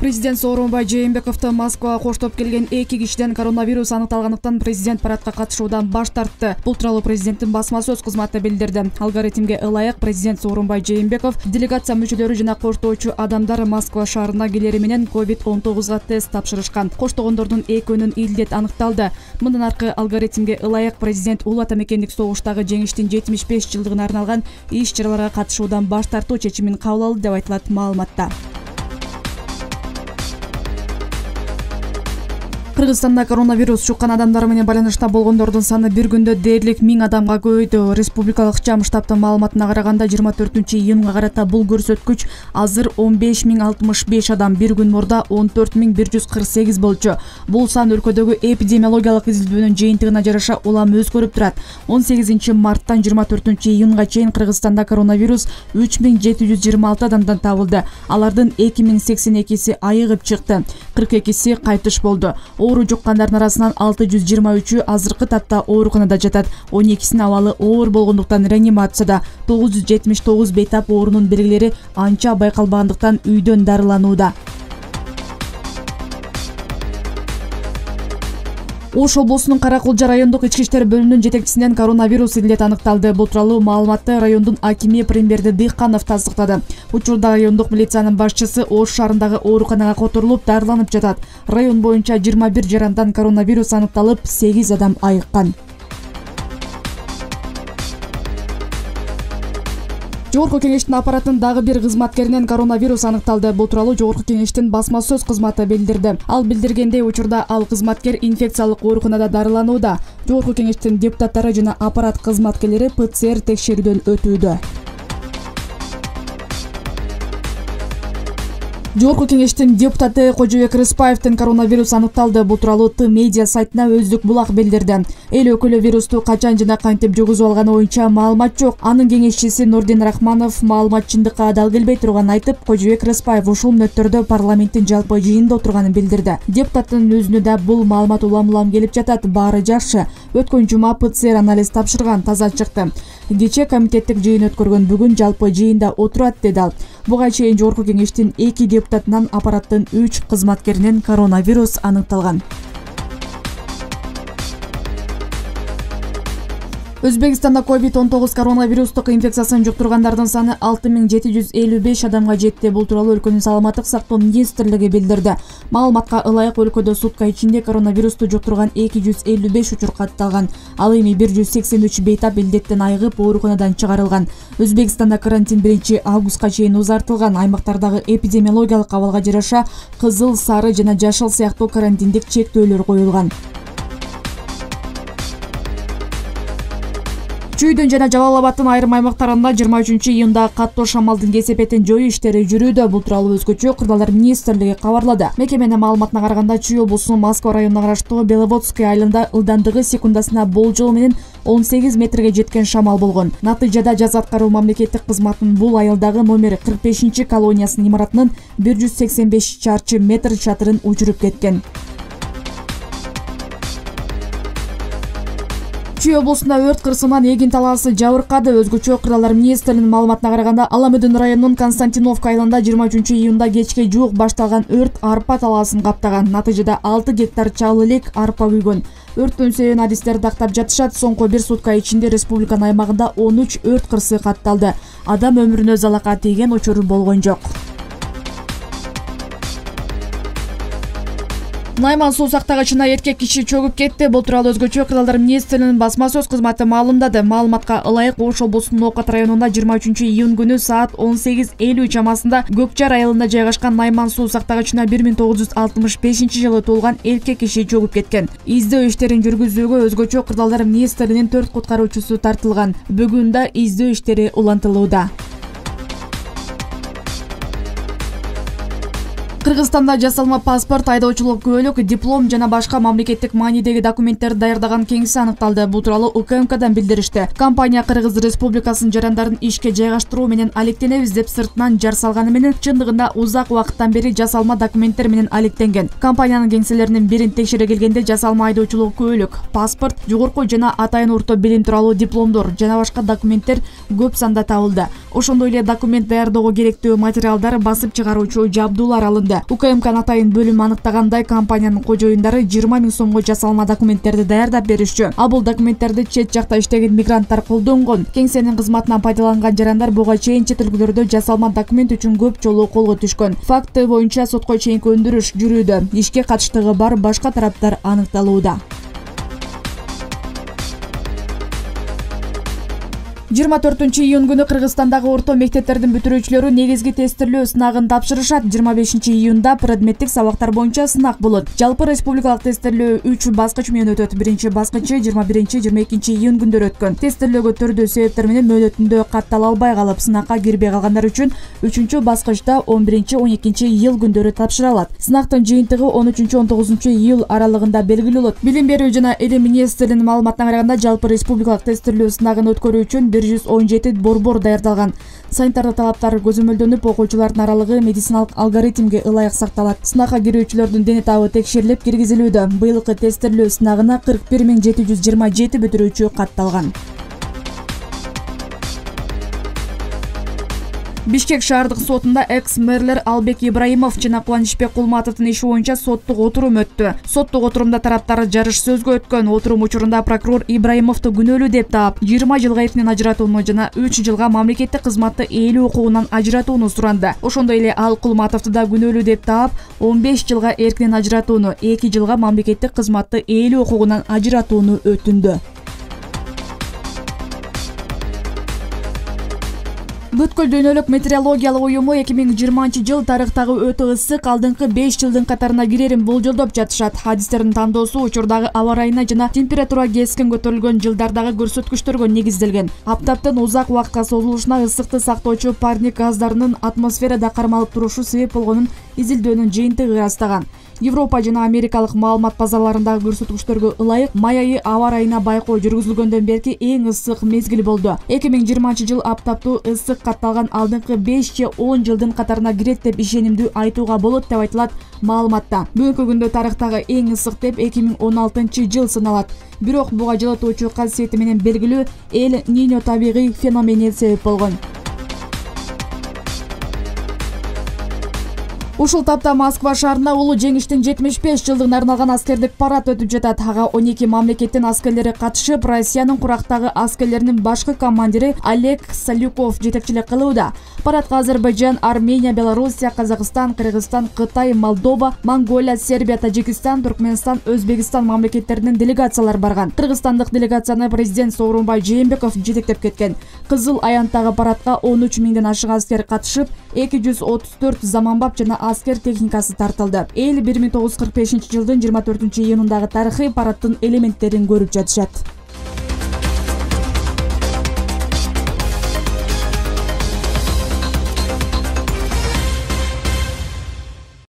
Президент Сооронбай Жээнбековду Москвага коштоп келген 2 кишиден коронавирус аныкталгандыктан президент парадка катышуудан баш тартты. Бул тууралуу президенттин басма сөз кызматы билдирди. Алгоритмге ылайык президент Сооронбай Жээнбеков делегация мүчөлөрү жана коштоочу адамдар Москва шаарына келери менен COVID-19 тест тапшырышкан. Коштогондордун экөөнүн илдет аныкталды. Мындан аркы алгоритмге ылайык президент Улуу Ата Мекендик согуштагы жеңиштин 75 жылдыгына арналган иш-чараларга катышуудан баш тартуу чечимин кабыл алды деп айтылат маалыматта. Кыргызстанда коронавирус жуккан адамдар менен байланышта болгондордун саны бир күндө дээрлик 1000 адамга көбөйдү. Республикалык ЖАМ штабтын маалыматына караганда 24-июнга карата бул көрсөткүч азыр 15065 адам, бир күн мурда 14148 болчу. Бул сан өлкөдөгү эпидемиологиялык изилдөөнүн жыйынтыгына жараша улам өзгөрүп турат. 18 марттан 24-июнга чейин Кыргызстанда коронавирус 3726 адамдан табылды. Алардын 2082си айыгып чыкты, 42си кайтыш болду. Оору жуккандардын арасынан 623-ü азыркы тапта ооруканада жатат. 12синин абалы оор болгондуктан реанимацияда. 979 бейтап оорунун белгилери анча байкалбагандыктан үйдөн дарыланууда. Ош облусунун Каракулжа райондук ички иштер бөлүмүнүн жетекчисинен коронавирус илдет аныкталды. Бул тууралуу маалыматты райондун акими Премберди Дыйканов тастыктады. Учурда райондук милициянын башчысы Ош шаарындагы ооруканага которулуп дарыланып жатат. Район боюнча 21 жарандан коронавирус аныкталып, 8 адам айыккан. Жогорку кеңештин аппараттын дагы бир кызматкеринен коронавирус аныкталды. Бул тууралуу Жогорку кеңештин басма сөз кызматы билдирди. Ал билдиргендей, учурда ал кызматкер инфекциялык ооруканада дарыланууда. Жогорку кеңештин депутаттары жана аппарат кызматкерлери ПЦР текшерүүдөн өтүүдө. Жогорку кеңештин депутаты Кожобек Рыспаевдин коронавирус аныкталды. Бул тууралуу Т-медиа сайтына Өздүк булак билдирди. Эл өкүлү вирусту качан жана кантип жугузуп алганы боюнча маалымат жок. Анын кеңешчиси Нурдин Рахманов маалымат чындыкка адал келбей турганын айтып, Кожобек Рыспаев ушул мүнөттөрдө парламенттин жалпы жыйынында отурганын билдирди. Депутаттын өзүнө да бул маалымат улам келип жатат. Баары жакшы. Өткөн жума ПЦР анализ тапшырган, таза чыкты. Кечээ комитеттик жыйын өткөргөн, бүгүн жалпы жыйында отурат, деди ал. Буга чейин Жогорку кеңештин 2 депутатынан аппараттын 3 кызматкеринен коронавирус аныкталган. Өзбекстанда COVID-19 коронавирустук инфекциясын жуктургандардын саны 6755 адамга жетти. Бул тууралуу өлкөнүн саламаттык сактоо министрлиги билдирди. Маалыматка ылайык өлкөдө сутка ичинде коронавирусту жуктурган 255 учур катталган. Ал эми 183 бейтап илдеттен айыгып ооруканадан чыгарылган. Өзбекстанда карантин 1 августка чейин узартылган. Аймактардагы эпидемиологиялык абалга жараша кызыл, сары жана жашыл сыяктуу карантиндик чектөөлөр коюлган. Чүйдүн жана Жалал Абадтын айрым аймактарында 23-июнда каттуу шамалдын кесепетин жоюу иштери жүрүүдө. Бул тууралуу өзгөчө Кырдаалдар министрлиги кабарлады. Мекеменин маалыматына караганда, Чүй облусунун Москва районуна караштуу Беловодское айылында ылдамдыгы секундасына болжол менен 18 метрге жеткен шамал болгон. Натыйжада жаза аткаруу мамлекеттик кызматынын бул айылдагы номер 45 колониясынын имаратынын 185 чарчы метр чатырын учуруп кеткен. Чүй облусунда өрт кырсыгынан эгин талаасы жабыркады. Өзгөчө Кырдаалдар министрлигинин маалыматына караганда, Аламөдүн районунун Константиновка айылында 23-июнда кечке жуук башталган өрт арпа талаасын каптаган. Натыйжада 6 гектар чал элек арпа күйгөн. Өрттүн себебин адистер дактап жатышат. Соңку 1 сутка ичинде республиканын аймагында 13 өрт кырсыгы катталды. Адам өмүрүнө залака тийген учур болгон жок. Найман суу сактагычына эркек киши чөгүп кетти. Бул тууралуу өзгөчө Кырдаалдар министрлигинин басма сөз кызматы маалымдады. Маалыматка ылайык, Ош облусунун Окат районунда 23-июнь күнү саат 18:50 чамасында Көкчар айылында жайгашкан Найман суу сактагычына 1965-жылы туулган эркек киши чөгүп кеткен. Издөө иштерин жүргүзүүгө өзгөчө Кырдаалдар министрлигинин 4 куткаруучусу тартылган. Бүгүн да издөө иштери улантылууда. Кыргызстанда жасалма паспорт, айдоочулук күбөлүк, диплом жана башка мамлекеттик маанидеги документтерди даярдаган кеңсе аныкталды. Бул тууралуу УКМКдан билдиришти. Компания Кыргыз Республикасынын жарандарын ишке жайгаштыруу менен алектенебиз деп сыртынан жар салганы менен чындыгында узак убакыттан бери жасалма документтер менен алектенген. Компаниянын кеңселеринин бирин текшере келгенде жасалма айдоочулук күбөлүк, паспорт, жогорку жана атайын орто билим тууралуу дипломдор жана башка документтер көп санда табылды. Ошондой эле документ даярдоого керектүү материалдар, басып чыгаруучу жабдуулар алынды. өтүүдө. УКМК атайын бөлүм аныктагандай, компаниянын кожоюндары 20 000 сомго жасалма документтерди даярдап беришчү. А бул документтерди чет жакта иштеген мигранттар колдонгон. Кеңсенин кызматынан пайдаланган жарандар буга чейин чет өлкөлөрдө жасалма документ үчүн көп жолу колго түшкөн. Факты боюнча сотко чейинки өндүрүш жүрүүдө. Ишке катыштыгы бар башка тараптар аныкталууда. 24-июнь күнү Кыргызстандагы орто мектептердин бүтүрүүчүлөрү негизги тестирлөө сынагын тапшырышат. 25-июнда предметтик сабактар боюнча сынак болот. Жалпы республикалык тестирлөө 3 баскыч менен өтөт. Биринчи баскычы 21-22 күндөр өткөн. Тестирлөөгө төрдүү себептер менен мөөнөтүндө каттала албай калып, сынакка кирбей калгандар үчүн 3 баскычта 11-12 күндөрү тапшырылат. Сынактын жыйынтыгы 13-19 июль аралыгында белгилүү болот. Билим берүү жана Эле министринин маалыматына караганда, жалпы республикалык тестирлөө сынагын өткөрүү үчүн 117 борбор даярдалган. Санитардык талаптар көзөмөлдөнүп, окуучулардын аралыгы медициналык алгоритмге ылайык сакталат. Сынакка кирүүчүлөрдүн дене табы текшерилип киргизилүүдө. Быйылкы тестирлөө сынагына 41 727 бүтүрүүчү катталган. Бишкек шаардык сотунда экс-мэрлер Албек Ибраимов жана Кубанычбек Кулматовдун иши боюнча соттук отурум өттү. Соттук отурумда тараптар жарыш сөзгө өткөн. Отурум учурунда прокурор Ибраимовду күнөөлүү деп таап, 20 жылга эркинен ажыратууну жана 3 жылга мамлекеттик кызматты ээлүү укугунан ажыратууну суранды. Ошондой эле ал Кулматовду да күнөөлүү деп таап, 15 жылга эркинен ажыратууну, 2 жылга мамлекеттик кызматты ээлүү укугунан ажыратууну өтүндү. Бүткүл дүйнөлүк метеорологиялык уюму 2020 жыл тарыхтагы өтө ысык алдыңкы 5 жылдын катарына кирерин болжолдоп жатышат. Хадистердин тандоосу учурдагы аба ырайына жана температура кескин көтөрүлгөн жылдардагы көрсөткүчтөргө негизделген. Аптаптын узак убакытка созулушуна ысыкты сактоочу парник газдарынын атмосферада кармалып турушу себеп болгонун изилдөөнүн жыйынтыгы ырастаган. Европа жана Америкалык маалымат базаларындагы көрсөткүчтөргө ылайык май айы аба ырайына байкоо жүргүзүлгөндөн берки эң ысык мезгил болду. 2020 жыл аптаптуу ысык катталган алдыңкы 5 же 10 жылдын катарына кирет деп ишенимдүү айтууга болот деп айтылат маалыматта. Бүгүнкү күндө тарыхтагы эң ысык деп 2016 жыл саналат. Бирок буга жылытуучу касиети менен белгилүү Эль Ниньо табигый феномени себеп болгон. Ушул тапта Москва шаарында улуу жеңиштин 75 жылдыгына арналган аскердик парад өтүп жатат. Ага 12 мамлекеттин аскерлери катышып, Россиянын курактагы аскерлеринин башкы командири Олег Салюков жетекчилик кылууда. Парадка Азербайжан, Армения, Белоруссия, Казакстан, Кыргызстан, Кытай, Молдова, Монголия, Сербия, Тажикстан, Туркменстан, Өзбекстан мамлекеттеринин делегациялары барган. Кыргызстандык делегацияны президент Сооронбай Жээнбеков жетектеп кеткен. Кызыл аянттагы парадка 13 000ден ашык аскер катышып, 234 заманбап жана аскер техникасы тартылды. Эл 1945 жылдын 24 июнундагы тарыхый парадтын элементтерин көрүп жатышат.